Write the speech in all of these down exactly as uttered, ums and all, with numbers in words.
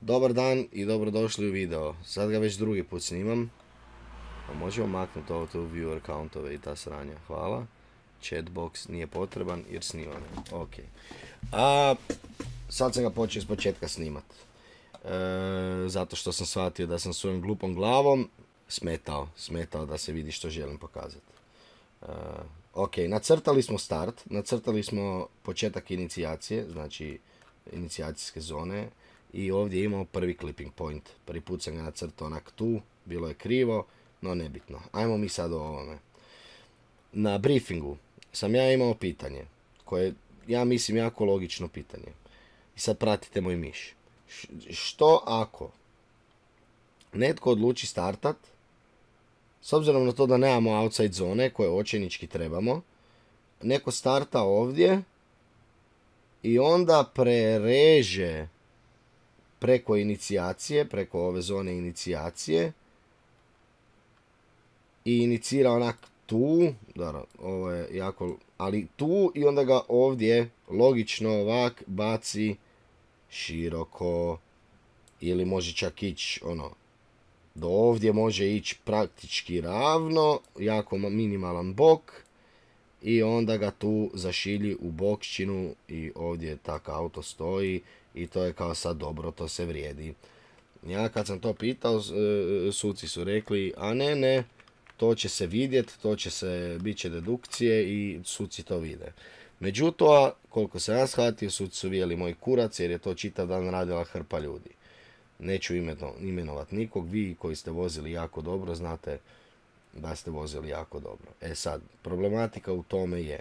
Dobar dan i dobrodošli u video. Sad ga već drugi put snimam. Pa možemo maknuti ovo tu viewer countove i ta sranja. Hvala. Chatbox nije potreban jer snimam. Ok. A sad sam ga počeo iz početka snimat. E, zato što sam shvatio da sam svojom glupom glavom smetao. Smetao da se vidi što želim pokazati. E, ok, nacrtali smo start. Nacrtali smo početak inicijacije. Znači inicijacijske zone. I ovdje imamo prvi clipping point. Prvi put sam ga nacrtao onak tu. Bilo je krivo, no nebitno. Ajmo mi sad o ovome. Na briefingu sam ja imao pitanje. Koje ja mislim jako logično pitanje. I sad pratite moj miš. Što ako netko odluči startat, s obzirom na to da nemamo outside zone koje očajnički trebamo, neko starta ovdje i onda prereže preko inicijacije, preko ove zone inicijacije i inicira onak tu, dobro, ovo je jako, ali tu i onda ga ovdje logično ovak baci široko ili može čak ići ono do ovdje, može ići praktički ravno, jako minimalan bok i onda ga tu zašilji u bokšćinu i ovdje tak auto stoji i to je kao sad dobro, to se vrijedi. Ja kad sam to pitao, suci su rekli, a ne, ne, to će se vidjeti, to će se, bit će dedukcije i suci to vide. Međutim, koliko sam ja shvatio, suci su vijeli moj kurac jer je to čitav dan radila hrpa ljudi. Neću imenovat nikog, vi koji ste vozili jako dobro, znate da ste vozili jako dobro. E sad, problematika u tome je,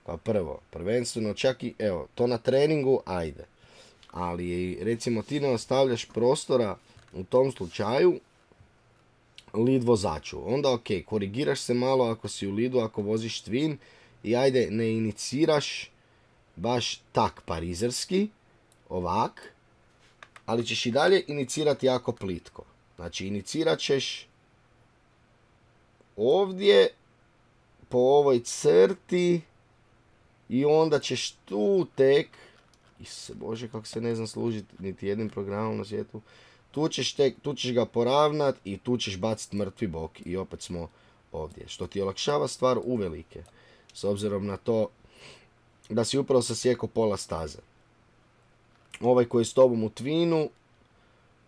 kao prvo, prvenstveno čak i, evo, to na treningu, ajde. Ali recimo ti ne ostavljaš prostora u tom slučaju lead vozaču. Onda ok, korigiraš se malo ako si u leadu, ako voziš twin i ajde ne iniciraš baš tak parizerski, ovak, ali ćeš i dalje inicirati jako plitko. Znači inicirat ćeš ovdje po ovoj crti i onda ćeš tu tek, Isuse Bože, kako se ne znam služiti niti jednim programom na svijetu. Tu ćeš, tek, tu ćeš ga poravnat i tu ćeš baciti mrtvi bok i opet smo ovdje. Što ti olakšava stvar uvelike. S obzirom na to da si upravo sasjekao pola staze. Ovaj koji je s tobom u twinu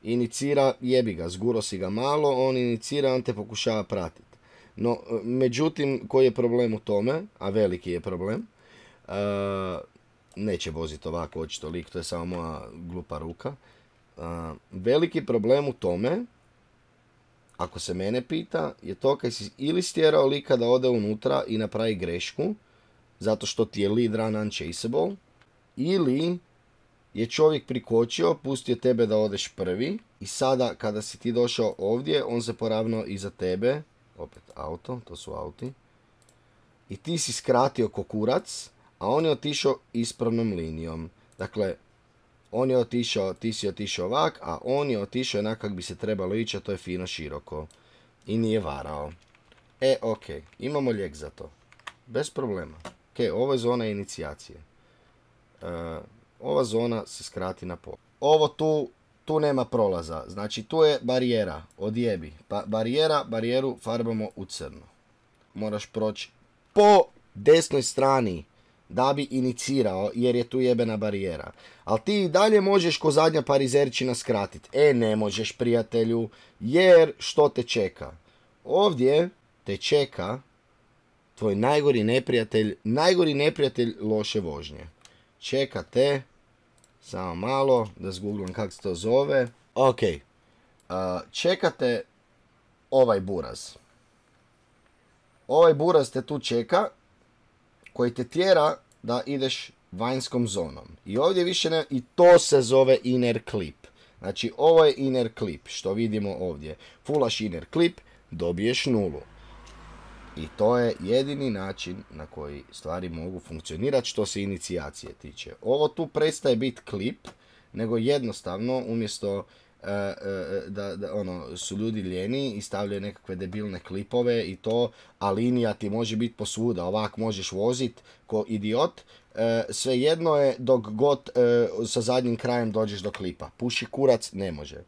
inicira, jebi ga, zguro si ga malo, on inicira, on te pokušava pratiti. No, međutim, koji je problem u tome, a veliki je problem, uh, neće voziti ovako očito lik, to je samo moja glupa ruka. Uh, veliki problem u tome, ako se mene pita, je to kad si ili stjerao lika da ode unutra i napravi grešku, zato što ti je lead run unchaseable, ili je čovjek prikočio, pustio tebe da odeš prvi i sada kada si ti došao ovdje, on se poravnao iza tebe, opet auto, to su auti, i ti si skratio ko kurac, a on je otišao ispravnom linijom. Dakle, on je otišao, ti si otišao ovak, a on je otišao onak kak bi se trebalo ići, a to je fino široko. I nije varao. E, ok, imamo lijek za to. Bez problema. Ok, ovo je zona inicijacije. E, ova zona se skrati na pol. Ovo tu, tu nema prolaza. Znači, tu je barijera. Odjebi. Pa, barijera, barijeru farbamo u crno. Moraš proći po desnoj strani da bi inicirao, jer je tu jebena barijera. Ali ti i dalje možeš ko zadnja parizerčina skratiti. E, ne možeš, prijatelju, jer što te čeka? Ovdje te čeka tvoj najgori neprijatelj, najgori neprijatelj loše vožnje. Čeka te, samo malo, da zgooglam kako se to zove. Ok, uh, čekate ovaj buraz. Ovaj buraz te tu čeka, koji te tjera da ideš vanjskom zonom. I ovdje više ne, i to se zove inner clip. Znači ovo je inner clip, što vidimo ovdje. Fullaš inner clip, dobiješ nulu. I to je jedini način na koji stvari mogu funkcionirati što se inicijacije tiče. Ovo tu prestaje biti klip, nego jednostavno umjesto da, da ono, su ljudi ljeni i stavljaju nekakve debilne klipove i to, a linija ti može biti posvuda, ovak možeš vozit ko idiot, e, svejedno je dok god e, sa zadnjim krajem dođeš do klipa. Puši kurac, ne može.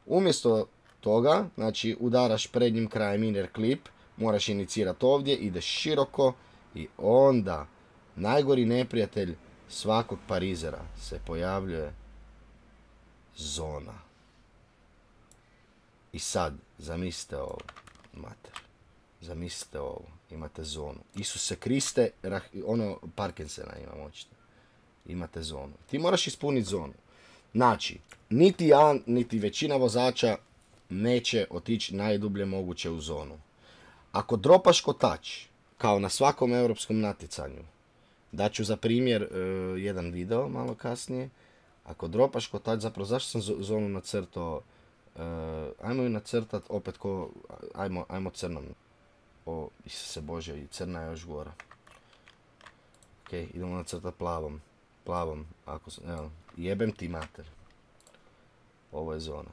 Umjesto toga, znači udaraš prednjim krajem inner klip, moraš inicirati ovdje, ideš široko i onda najgori neprijatelj svakog parizera se pojavljuje zona. I sad, zamislite ovo, mater, zamislite ovo, imate zonu. Isuse Kriste, ono, Parkinsona imam očito. Imate zonu. Ti moraš ispuniti zonu. Znači, niti ja, niti većina vozača neće otići najdublje moguće u zonu. Ako dropaš kotač, kao na svakom europskom natjecanju, daću za primjer uh, jedan video malo kasnije, ako dropaš kotač, zapravo zašto sam zonu nacrtao, uh, ajmo ju nacrtat opet ko, ajmo, ajmo crnom. O, Isuse Bože, i crna je još gora. Ok, idemo nacrtat plavom. Plavom, ako sam, evo, jebem ti mater. Ovo je zona.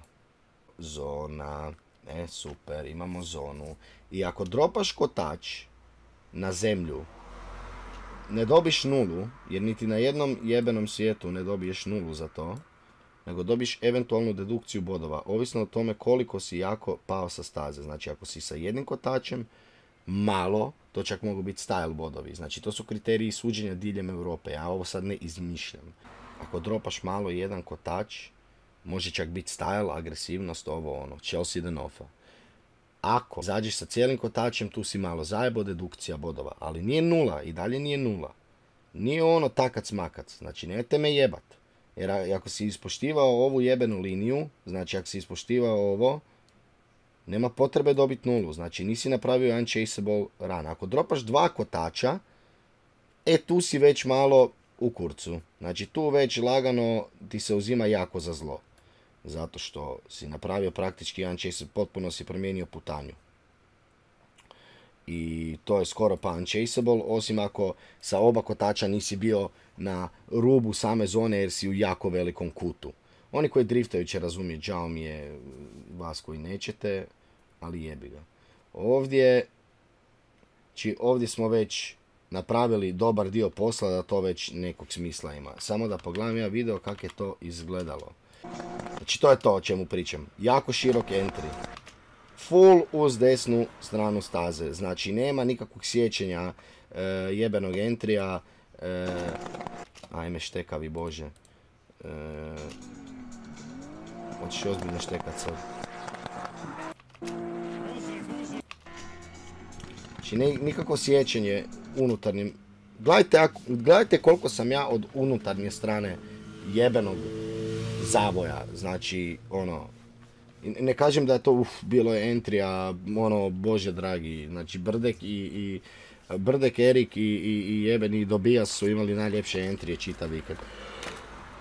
Zona, e, super, imamo zonu. I ako dropaš kotač na zemlju, ne dobiš nulu, jer niti na jednom jebenom svijetu ne dobiješ nulu za to, nego dobiš eventualnu dedukciju bodova, ovisno o tome koliko si jako pao sa staze. Znači, ako si sa jednim kotačem, malo, to čak mogu biti style bodovi. Znači, to su kriteriji suđenja diljem Europe. Ja ovo sad ne izmišljam. Ako dropaš malo jedan kotač, može čak biti style, agresivnost, ovo ono, Chelsea Denofa. Ako zađeš sa cijelim kotačem, tu si malo zajebo, dedukcija bodova. Ali nije nula, i dalje nije nula. Nije ono takac makac. Znači, nemojte me jebat. Jer ako si ispoštivao ovu jebenu liniju, znači ako si ispoštivao ovo, nema potrebe dobiti nulu. Znači, nisi napravio unchaseable run. Ako dropaš dva kotača, e tu si već malo u kurcu. Znači, tu već lagano ti se uzima jako za zlo. Zato što si napravio praktički unchaseable, potpuno si promijenio putanju. I to je skoro pa unchaseable, osim ako sa oba kotača nisi bio na rubu same zone jer si u jako velikom kutu. Oni koji driftaju će razumjeti, žao mi je vas koji nećete, ali jebi ga. Ovdje, či ovdje smo već napravili dobar dio posla da to već nekog smisla ima. Samo da pogledam ja video kako je to izgledalo. Znači to je to o čemu pričam. Jako širok entry. Full uz desnu stranu staze. Znači nema nikakvog sjećenja e, jebenog entrija. E, ajme štekavi bože. E, Hoćeš ozbiljno štekat sad. Znači ne, nikakvo sjećanje unutarnjim. Gledajte, gledajte koliko sam ja od unutarnje strane jebenog zavoja. Znači ono, ne kažem da je to uf, bilo je entrija, ono, bože dragi. Znači Brdek i, i Brdek, Erik i, i, i jebeni Dobijas su imali najljepše entrije čitav vikend.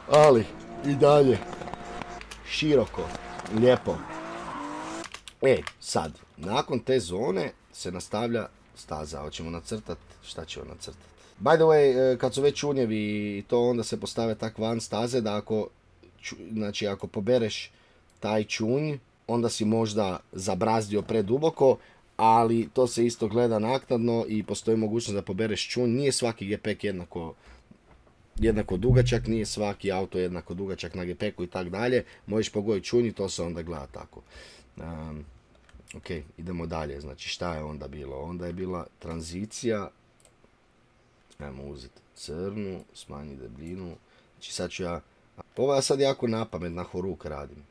Ali, i dalje, široko, lijepo. E, sad, nakon te zone se nastavlja staza. Hoćemo nacrtat, šta ćemo nacrtat? By the way, kad su već čunjevi i to, onda se postave tak van staze da ako, znači ako pobereš taj čunj, onda si možda zabrazdio preduboko, ali to se isto gleda naknadno i postoji mogućnost da pobereš čunj. Nije svaki gepek jednako, jednako dugačak, nije svaki auto jednako dugačak na gepeku i tak dalje. Možeš pogoditi čunj i to se onda gleda tako. Um, ok, idemo dalje. Znači šta je onda bilo? Onda je bila tranzicija. Ajmo uzeti crnu, smanji debljinu. Znači sad ću ja... Ovo ja sad jako napamet na horuk radim.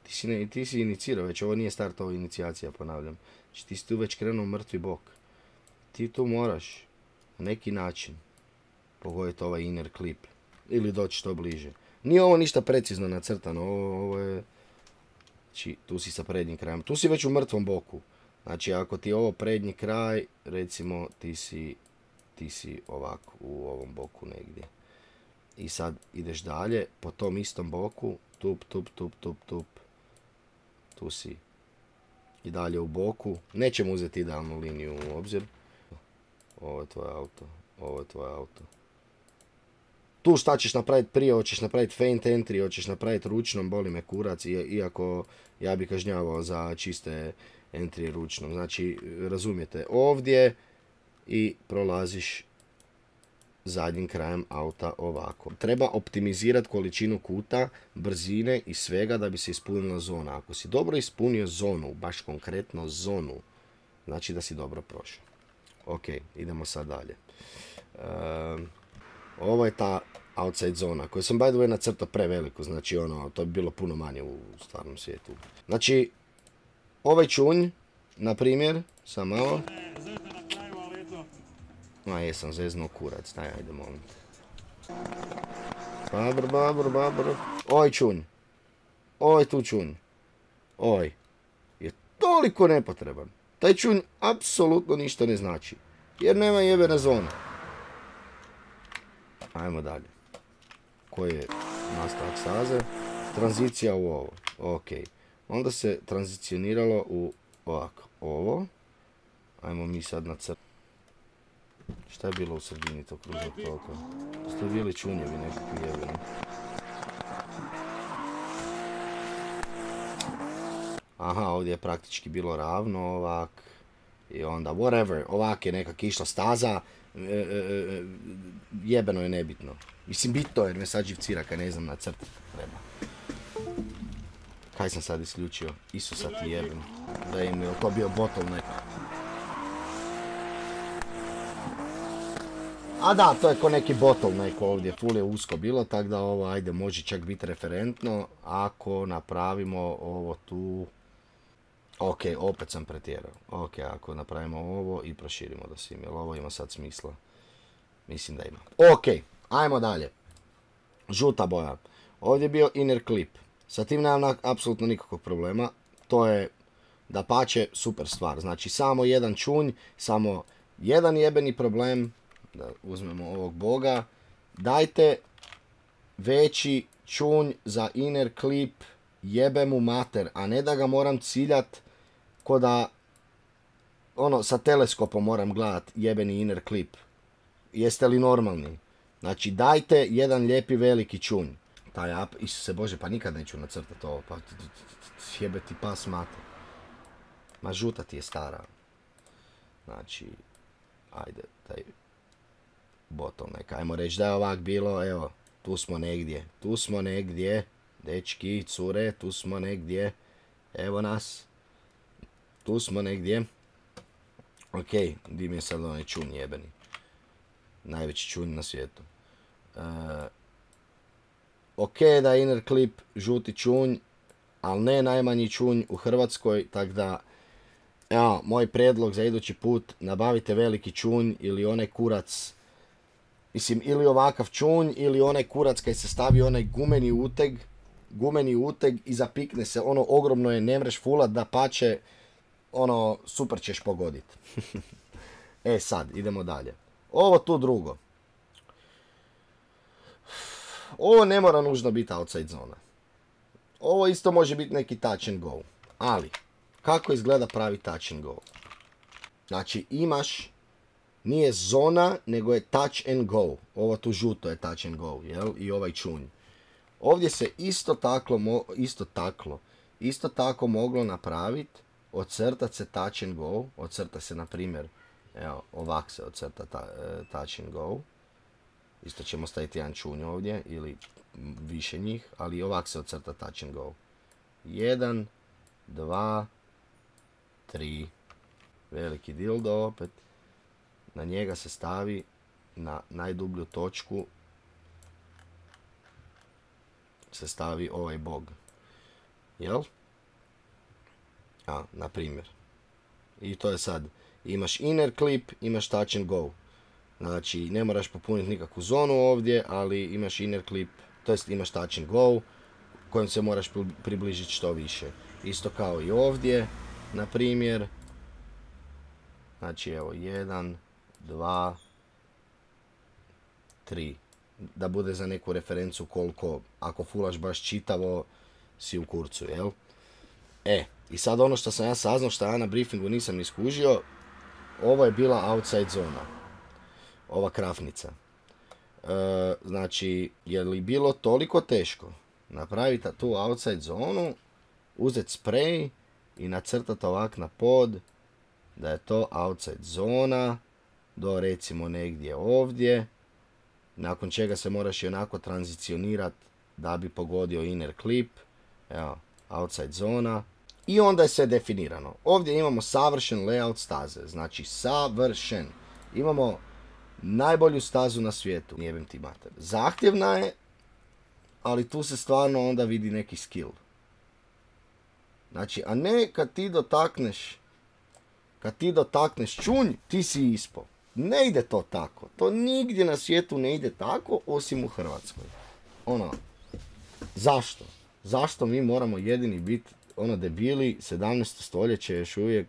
Ti si, ne, ti si inicirao već, ovo nije start, ovo inicijacija, ponavljam. Znači ti si tu već krenuo mrtvi bok. Ti tu moraš na neki način pogoditi ovaj inner clip. Ili doći što bliže. Nije ovo ništa precizno nacrtano, ovo, ovo je... Znači tu si sa prednjim krajem. Tu si već u mrtvom boku. Znači ako ti je ovo prednji kraj, recimo ti si, ti si ovako u ovom boku negdje. I sad ideš dalje po tom istom boku, tup, tup, tup, tup, tup. Tu si i dalje u boku. Nećemo uzeti idealnu liniju u obzir. Ovo je tvoj auto, ovo je tvoj auto. Tu šta ćeš napraviti prije, hoćeš napraviti feint entry, hoćeš napraviti ručnom, boli me kurac, iako ja bi kažnjavao za čiste entry ručnom. Znači, razumijete, ovdje i prolaziš zadnjim krajem auta ovako. Treba optimizirati količinu kuta, brzine i svega da bi se ispunila zona. Ako si dobro ispunio zonu, baš konkretno zonu, znači da si dobro prošao. Ok, idemo sad dalje. Uh, ovo je ta outside zona koju sam by the way nacrtao preveliku, znači ono, to bi bilo puno manje u stvarnom svijetu. Znači, ovaj čunj, na primjer, sam malo... A jesam zeznuo kurac, daj, ajde molim te. Babr, babr, babr. Oj čunj. Oj tu čunj. Oj. Je toliko nepotreban. Taj čunj apsolutno ništa ne znači. Jer nema jebene zone. Ajmo dalje. Koji je nastavak staze? Tranzicija u ovo. Ok. Onda se tranzicioniralo u ovako. Ovo. Ajmo mi sad na crtu. Šta je bilo u sredini tog kružnog toka? Ste bili čunjevi nekakvi jebeni. Aha, ovdje je praktički bilo ravno ovak. I onda whatever, ovak je nekak išla staza. E, e, e, jebeno je nebitno. Mislim bitno jer me sad živcira kaj ne znam na crtu treba. Kaj sam sad isključio? Isusa ti jebem. Da im je to bio bottleneck. A da, to je ko neki bottleneck ovdje, full je usko bilo, tako da ovo, ajde, može čak biti referentno, ako napravimo ovo tu... Ok, opet sam pretjerao. Ok, ako napravimo ovo i proširimo do svim, jer ovo ima sad smisla. Mislim da ima. Ok, ajmo dalje. Žuta boja. Ovdje je bio inner clip. Sa tim nemam apsolutno nikakvog problema. To je, dapače, super stvar. Znači, samo jedan čunj, samo jedan jebeni problem... Da uzmemo ovog boga. Dajte veći čunj za inner clip, jebe mu mater, a ne da ga moram ciljat ko da ono sa teleskopom moram gledat jebeni inner clip. Jeste li normalni? Znači dajte jedan lijepi veliki čunj. Taj up, Isuse Bože, pa nikad neću nacrtati ovo, pa jebe ti pas mater. Ma žuta ti je stara. Znači, ajde, taj... bottleneck. Ajmo reći da je ovak bilo, evo, tu smo negdje, tu smo negdje, dečki, cure, tu smo negdje, evo nas, tu smo negdje. Ok, di mi je sad onaj čunj jebeni, najveći čunj na svijetu. Uh, ok da je inner clip žuti čunj, ali ne najmanji čunj u Hrvatskoj, tako da, evo, moj prijedlog za idući put, nabavite veliki čunj ili onaj kurac. Mislim, ili ovakav čunj, ili onaj kurac kaj se stavi onaj gumeni uteg, gumeni uteg i zapikne se, ono ogromno je, ne mreš fulat, da pače, ono, super ćeš pogodit. E sad, idemo dalje. Ovo tu drugo. Ovo ne mora nužno biti outside zona. Ovo isto može biti neki touch and go. Ali, kako izgleda pravi touch and go? Znači, imaš... Nije zona, nego je touch and go. Ovo tu žuto je touch and go, jel? I ovaj čunj. Ovdje se isto tako, isto tako, isto tako moglo napraviti, ocrtat se touch and go, ocrta se na primjer, evo, ovak se ocrta ta, touch and go. Isto ćemo staviti jedan čunj ovdje, ili više njih, ali ovak se ocrta touch and go. Jedan, dva, tri. Veliki dildo opet. Na njega se stavi na najdublju točku se stavi ovaj bog. Jel? A, na primjer. I to je sad. Imaš inner clip, imaš touch and go. Znači, ne moraš popuniti nikakvu zonu ovdje, ali imaš inner clip, to jest imaš touch and go, kojem se moraš približiti što više. Isto kao i ovdje, na primjer. Znači, evo, jedan, dva, tri. Da bude za neku referencu koliko, ako fulaš baš čitavo, si u kurcu, jel? E, i sad ono što sam ja saznao, što ja na briefingu nisam ni skužio, ovo je bila outside zona. Ova krafnica. E, znači, je li bilo toliko teško napraviti tu outside zonu, uzeti spray i nacrtati ovak na pod, da je to outside zona, do recimo negdje ovdje, nakon čega se moraš i onako tranzicionirati da bi pogodio inner clip, evo, outside zona, i onda je sve definirano. Ovdje imamo savršen layout staze, znači savršen. Imamo najbolju stazu na svijetu, jebem ti mater. Zahtjevna je, ali tu se stvarno onda vidi neki skill. Znači, a ne kad ti dotakneš, kad ti dotakneš čunj, ti si ispao. Ne ide to tako. To nigdje na svijetu ne ide tako, osim u Hrvatskoj. Ono, zašto? Zašto mi moramo jedini biti, ono, debili, sedamnaesto stoljeće još uvijek,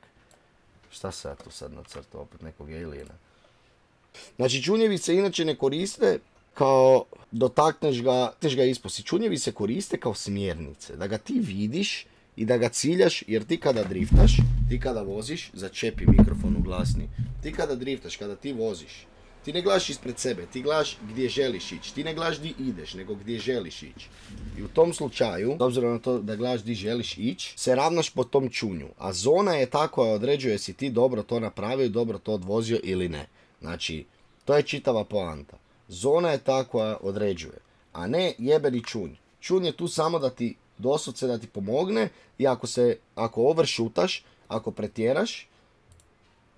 šta se ja tu sad nacrtao, opet nekog aliena. Znači, čunjevi se inače ne koriste kao dotakneš ga, teš ga isposi. Čunjevi se koriste kao smjernice, da ga ti vidiš i da ga ciljaš, jer ti kada driftaš, ti kada voziš, začepi mikrofon u glasni, ti kada driftaš, kada ti voziš, ti ne gledaš ispred sebe, ti gledaš gdje želiš ići, ti ne gledaš gdje ideš, nego gdje želiš ići. I u tom slučaju, s obzirom na to da gledaš gdje želiš ići, se ravnaš po tom čunju, a zona je ta koja određuje si ti dobro to napravio, dobro to odvozio ili ne. Znači, to je čitava poanta. Zona je ta koja određuje, a ne jebeni čunj. Čunj je tu samo da ti doslovce da ti pomogne i ako se, ako overshootaš, ako pretjeraš,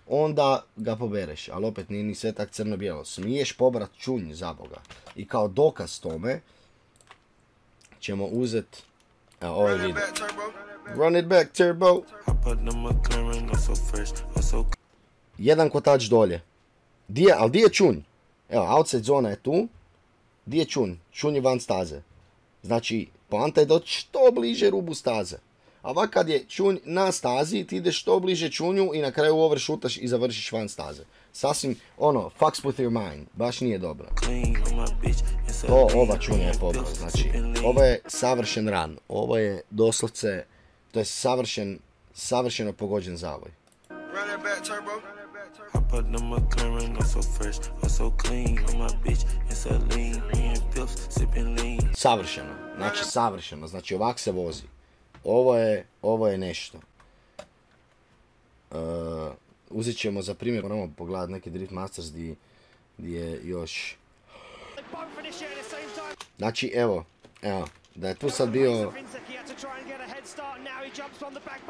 onda ga pobereš. Ali opet nije ni sve tak crno-bijelo. Smiješ pobrat čunj za Boga. I kao dokaz tome ćemo uzeti, evo ovaj video. Run it back, turbo. Jedan kotač dolje. Dije, ali di je čunj? Evo, outside zona je tu. Di je čunj? Čunj je van staze. Znači, poanta je doći što bliže rubu staze. A ovak kad je čunj na stazi, ti ideš što bliže čunju i na kraju overshootaš i završiš van staze. Sasvim, ono, fucks with your mind. Baš nije dobro. To, ova čunja je pobra. Znači, ovo je savršen run. Ovo je doslovce, to je savršen, savršeno pogođen zavoj. Savršeno, znači savršeno, znači ovak se vozi. Ovo je, ovo je nešto. Uh, uzet ćemo za primjer, moramo pogledati neki Drift Masters gdje je još... Znači evo, evo, da je tu sad bio...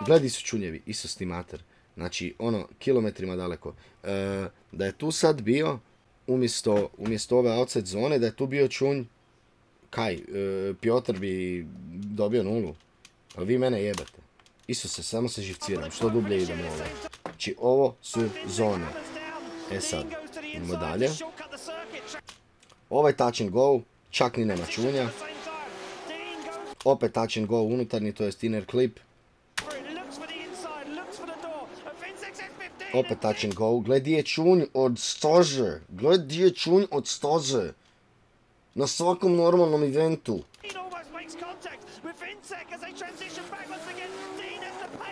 Gledi su čunjevi, isto sti mater. Znači, ono, kilometrima daleko. E, da je tu sad bio, umjesto, umjesto ove outside zone, da je tu bio čunj, kaj, e, Piotr bi dobio nulu. Ali vi mene jebate. Isto se, samo se živciram, što dublje idemo ovo. Znači, ovo su zone. E sad, idemo dalje. Ovaj touch and go, čak ni nema čunja. Opet touch and go unutarnji, to jest inner clip. Opet touch and go. Gledi je čunj od staze. Gledi je čunj od staze. Na svakom normalnom eventu.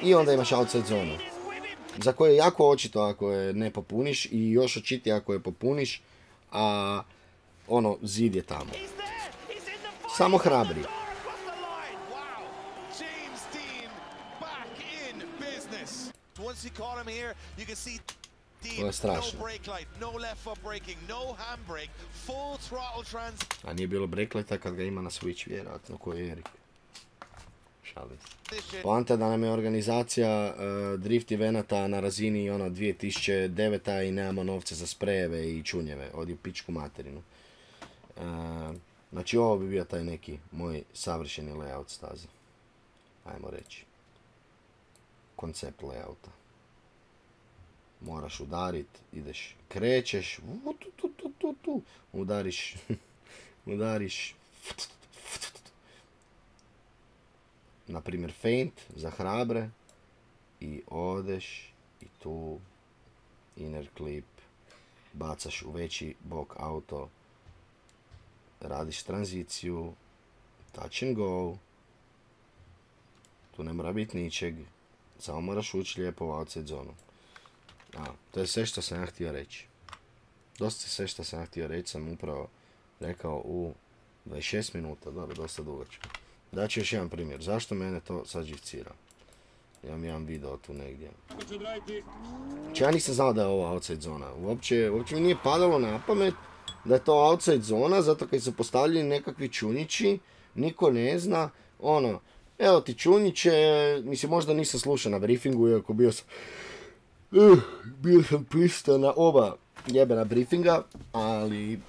I onda imaš outside zonu. Za koje je jako očito ako je ne popuniš i još očitije ako je popuniš. A ono, zid je tamo. Samo hrabri. To je strašno. A nije bilo breaklighta kad ga ima na Switch, vjerojatno, ko je Erik. Šalim se. Poanta da nam je organizacija uh, drift evenata na razini ono dvije tisuće devete. i nemamo novce za sprejeve i čunjeve. Odi u pičku materinu. Uh, znači ovo bi bio taj neki moj savršeni layout staze. Ajmo reći. Koncept layouta. Moraš udarit, ideš, krećeš, tu, tu, tu, tu, tu. udariš, udariš, na primjer feint za hrabre i odeš i tu inner clip, bacaš u veći bok auto, radiš tranziciju, touch and go, tu ne mora biti ničeg, samo moraš ući lijepo u outside zonu. A, to je sve što sam ja htio reći. Dosta sve što sam ja htio reći sam upravo rekao u dvadeset šest minuta, dobro, dosta dugačko. Daću još jedan primjer, zašto mene to sad živcira? Imam jedan video tu negdje. Znači ja nisam znao da je ovo outside zona, uopće, uopće mi nije padalo na pamet da je to outside zona, zato kad su postavljeni nekakvi čunjići, niko ne zna, ono, evo ti čunjiće, mislim možda nisam slušao na briefingu, iako bio sam, uh, bio sam pristao na oba jebena briefinga, ali,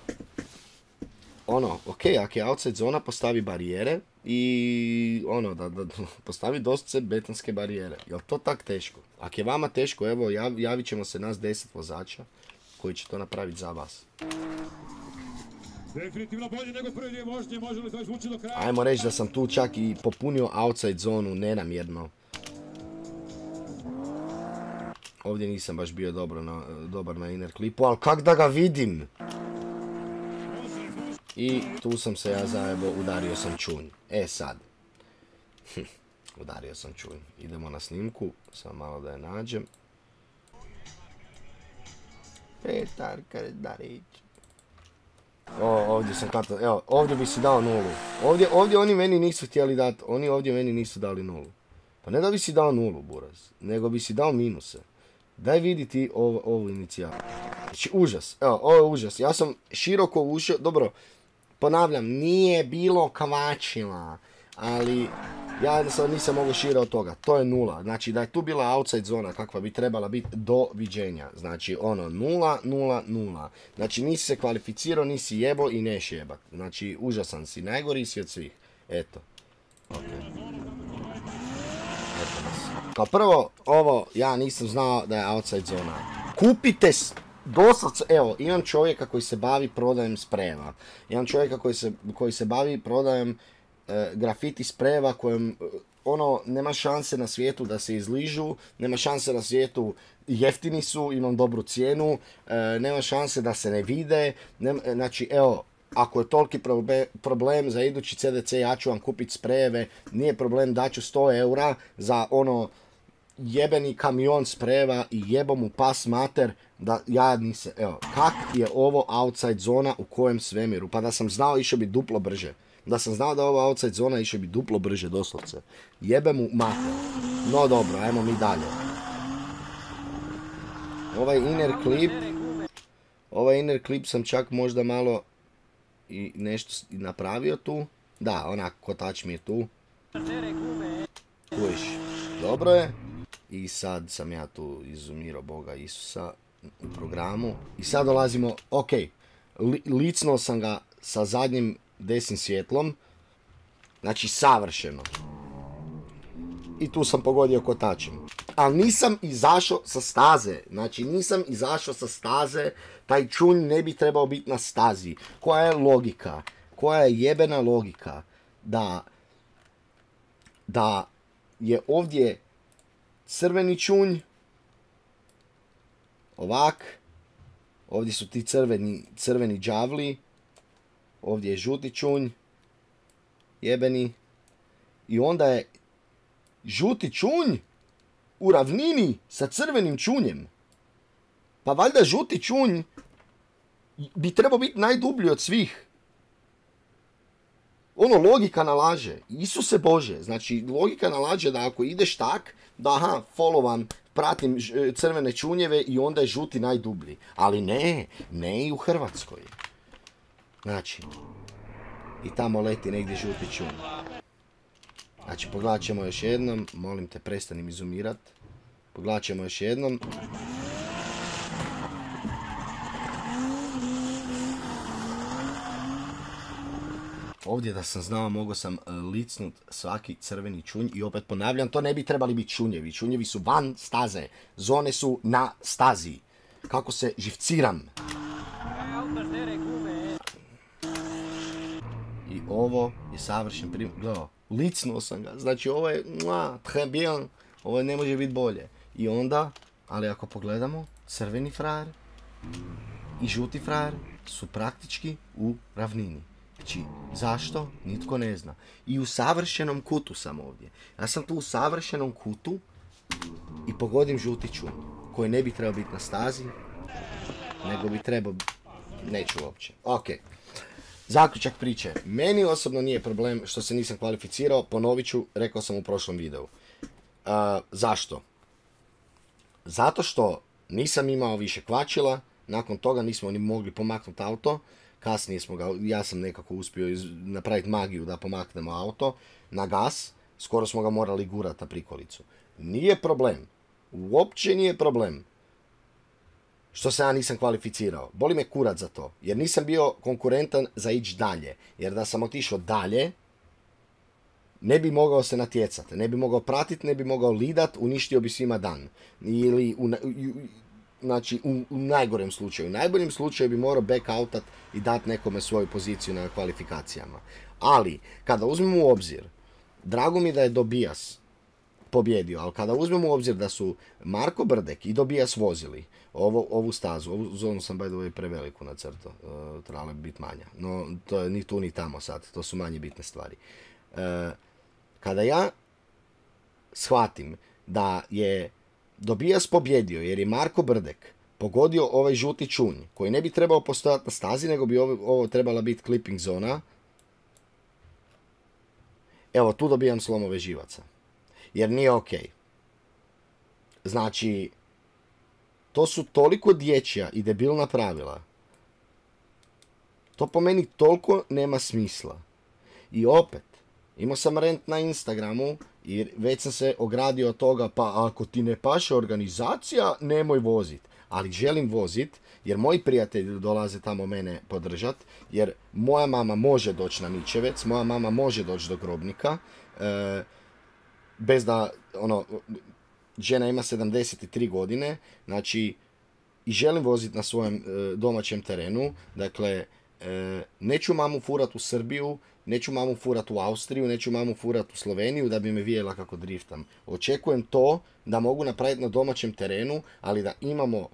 ono, ok, ako je outside zona, postavi barijere i, ono, da, da, postavi doslovce betonske barijere. Jel to tak teško? Ako je vama teško, evo, jav, javit ćemo se nas deset vozača koji će to napraviti za vas. Definitivno bolje nego prvi dio vožnje, može li to izvući do kraja? Ajmo reći da sam tu čak i popunio outside zonu nenamjerno. Ovdje nisam baš bio dobro na, dobar na inner klipu, ali kak da ga vidim? I tu sam se ja zajebo, udario sam čunj. E sad. Udario sam čunj. Idemo na snimku, samo malo da je nađem. Petar Kardarić. O, ovdje sam kato, evo, ovdje bi si dao nulu. Ovdje, ovdje oni meni nisu htjeli dati, oni ovdje meni nisu dali nulu. Pa ne da bi si dao nulu, buraz, nego bi si dao minuse. Daj vidi ti ovu, ovu inicijal. Znači, užas, evo, ovo je užas. Ja sam široko ušao, dobro, ponavljam, nije bilo kvačila, ali ja jednostavno nisam mogu šire od toga. To je nula. Znači, da je tu bila outside zona kakva bi trebala biti, doviđenja. Znači, ono, nula, nula, nula. Znači, nisi se kvalificirao, nisi jebo i neš jebat. Znači, užasan si, najgori si od svih. Eto. Okay. Eto nas. Kao prvo, ovo, ja nisam znao da je outside zona. Kupite doslovce, evo, imam čovjeka koji se bavi prodajem sprejeva. Imam čovjeka koji se, koji se bavi prodajem e, grafiti sprejeva kojem, ono, nema šanse na svijetu da se izližu, nema šanse na svijetu, jeftini su, imam dobru cijenu, e, nema šanse da se ne vide, nema, znači, evo, ako je toliki probe, problem za idući C D C, ja ću vam kupiti sprejeve, nije problem, daću sto eura za ono jebeni kamion sprejeva i jebo mu pas mater, da ja nisam, evo, kak je ovo outside zona u kojem svemiru, pa da sam znao išao bi duplo brže, da sam znao da je ovo outside zona išao bi duplo brže doslovce, jebe mu mater, no dobro, ajmo mi dalje. Ovaj inner clip, ovaj inner clip sam čak možda malo i nešto napravio tu, da, onak kotač mi je tu, kujiš, dobro je. I sad sam ja tu izumirao Boga Isusa u programu. I sad dolazimo, ok, li, licnuo sam ga sa zadnjim desnim svjetlom. Znači savršeno. I tu sam pogodio kotačem. Ali nisam izašao sa staze. Znači nisam izašao sa staze. Taj čunj ne bi trebao biti na stazi. Koja je logika? Koja je jebena logika? Da, da je ovdje crveni čunj, ovak, ovdje su ti crveni, crveni đavli, ovdje je žuti čunj, jebeni, i onda je žuti čunj u ravnini sa crvenim čunjem. Pa valjda žuti čunj bi trebao biti najdublji od svih. Ono, logika nalaže, Isuse Bože, znači logika nalaže da ako ideš tak, da aha, followam, pratim crvene čunjeve i onda je žuti najdublji. Ali ne, ne i u Hrvatskoj. Znači, i tamo leti negdje žuti čunj. Znači, pogledat ćemo još jednom, molim te, prestanim izumirat. Pogledat ćemo još jednom. Ovdje da sam znao, mogao sam licnut svaki crveni čunj i opet ponavljam, to ne bi trebali biti čunjevi. Čunjevi su van staze, zone su na stazi. Kako se živciram. I ovo je savršen primjer. Gledao, licnuo sam ga, znači ovo je, mua, très bien, ovo ne može biti bolje. I onda, ali ako pogledamo, crveni frajer i žuti frajer su praktički u ravnini. Znači, zašto? Nitko ne zna. I u savršenom kutu sam ovdje. Ja sam tu u savršenom kutu i pogodim žuti čunj, koji ne bi trebao biti na stazi, nego bi trebao... Neću uopće. Ok. Zaključak priče. Meni osobno nije problem što se nisam kvalificirao, ponovit ću, rekao sam u prošlom videu. Uh, zašto? Zato što nisam imao više kvačila, nakon toga nismo ni mogli pomaknuti auto, kasnije smo ga, ja sam nekako uspio iz, napraviti magiju da pomaknemo auto na gas, skoro smo ga morali gurati na prikolicu. Nije problem, uopće nije problem što se ja nisam kvalificirao. Boli me kurac za to, jer nisam bio konkurentan za ići dalje. Jer da sam otišao dalje, ne bi mogao se natjecati, ne bi mogao pratiti, ne bi mogao lidat, uništio bi svima dan. Ili, u, u, znači, u, u najgorem slučaju. U najboljem slučaju bi morao back-outat i dati nekome svoju poziciju na kvalifikacijama. Ali, kada uzmemo u obzir, drago mi da je Dobijas pobjedio, ali kada uzmemo u obzir da su Marko Brdek i Dobijas vozili ovo, ovu stazu, ovu zonu sam by the way preveliku nacrto, uh, trebala bi biti manja, no to je ni tu ni tamo sad, to su manje bitne stvari. Uh, kada ja shvatim da je Dobijas pobjedio jer je Marko Brdek pogodio ovaj žuti čunj koji ne bi trebao postojati na stazi, nego bi ovo, ovo trebala biti clipping zona, evo tu dobijam slomove živaca. Jer nije ok. Znači, to su toliko dječja i debilna pravila. To po meni toliko nema smisla. I opet, imao sam rent na Instagramu i već sam se ogradio od toga, pa ako ti ne paše organizacija, nemoj vozit. Ali želim vozit, jer moji prijatelji dolaze tamo mene podržat, jer moja mama može doći na Mičevec, moja mama može doći do Grobnika, e, bez da, ono, žena ima sedamdeset tri godine, znači, i želim voziti na svojem e, domaćem terenu, dakle, e, neću mamu furat u Srbiju, neću mamu furat u Austriju, neću mamu furat u Sloveniju da bi me vidjela kako driftam. Očekujem to da mogu napraviti na domaćem terenu, ali da imamo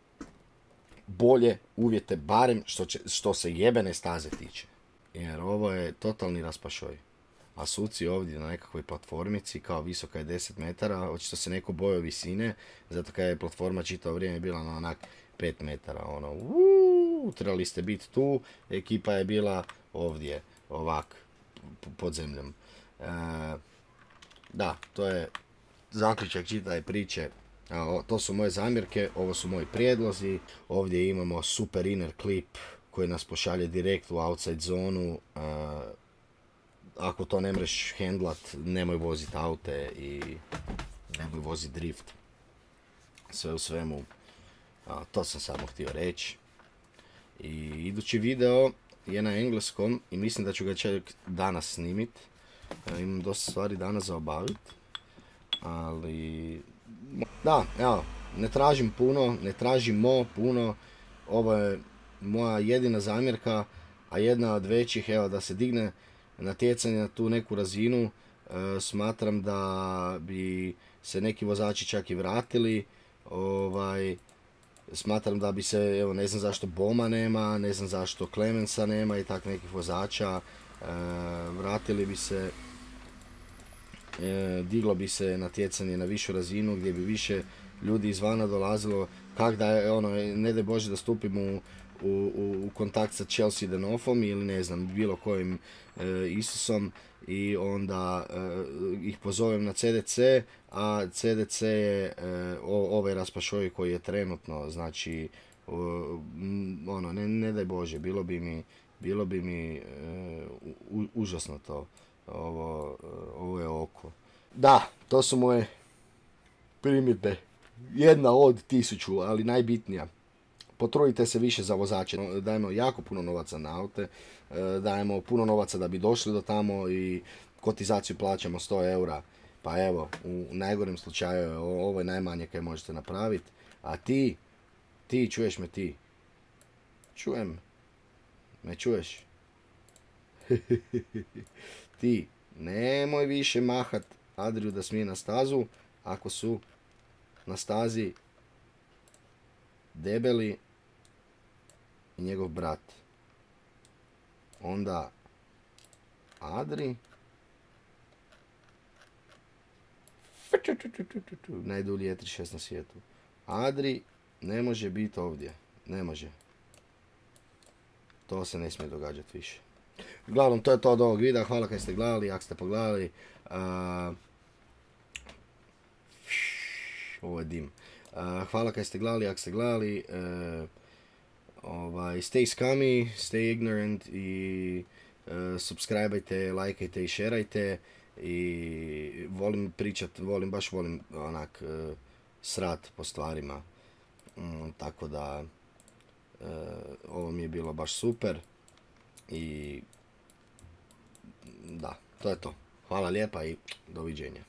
bolje uvjete, barem što, će, što se jebene staze tiče. Jer ovo je totalni raspašoj. A suci ovdje na nekakvoj platformici, kao visoka je deset metara, očito se neko bojao visine, zato kad je platforma čitavo vrijeme bila na onak pet metara, ono, uuu, trebali ste biti tu, ekipa je bila ovdje, ovak, pod zemljom. E, da, to je zaključak čitave priče. A, to su moje zamjerke, ovo su moji prijedlozi, ovdje imamo super inner clip koji nas pošalje direkt u outside zonu. A, ako to ne mreš handlat, nemoj vozit aute i nemoj vozit drift. Sve u svemu, a, to sam samo htio reći. I idući video je na engleskom i mislim da ću ga čak danas snimit. E, imam dosta stvari danas za obavit. Ali, da, evo, ne tražim puno, ne tražimo puno. Ovo je moja jedina zamjerka, a jedna od većih, evo, da se digne natjecanje na tu neku razinu. E, smatram da bi se neki vozači čak i vratili. Ovaj, smatram da bi se, evo, ne znam zašto Boma nema, ne znam zašto Clemensa nema i tak nekih vozača. E, vratili bi se, e, diglo bi se natjecanje na višu razinu gdje bi više ljudi izvana dolazilo. Kak da je, ono, ne daj Bože da stupim u, u, u kontakt sa Chelsea Denoffom ili ne znam, bilo kojim e, Isusom i onda e, ih pozovem na C D C, a C D C je e, ovaj raspašoj koji je trenutno, znači, o, ono, ne, ne daj Bože, bilo bi mi, bilo bi mi e, u, užasno to, ovo, ovo je oko. Da, to su moje primjedbe. Jedna od tisuću, ali najbitnija. Potrudite se više za vozače. Dajemo jako puno novaca na aute, dajemo puno novaca da bi došli do tamo i kotizaciju plaćamo sto eura. Pa evo, u najgorem slučaju ovo je najmanje kaj možete napraviti. A ti, ti, čuješ me ti? Čujem. Me čuješ? Ti, nemoj više mahat Adriju da smije na stazu ako su na stazi Debeli i njegov brat. Onda Adri najdulji E trideset šest na svijetu. Adri ne može biti ovdje. Ne može. To se ne smije događati više. Uglavnom, to je to od ovog videa. Hvala kad ste gledali, ako ste pogledali. Uh, ovo je dim. Uh, hvala kad ste gledali, ako ste gledali. Uh, ovaj, stay scummy, stay ignorant i uh, subscribeajte, lajkajte i šerajte. I volim pričat, volim, baš volim onak uh, srat po stvarima. Mm, tako da uh, ovo mi je bilo baš super. I da, to je to. Hvala lijepa i doviđenja.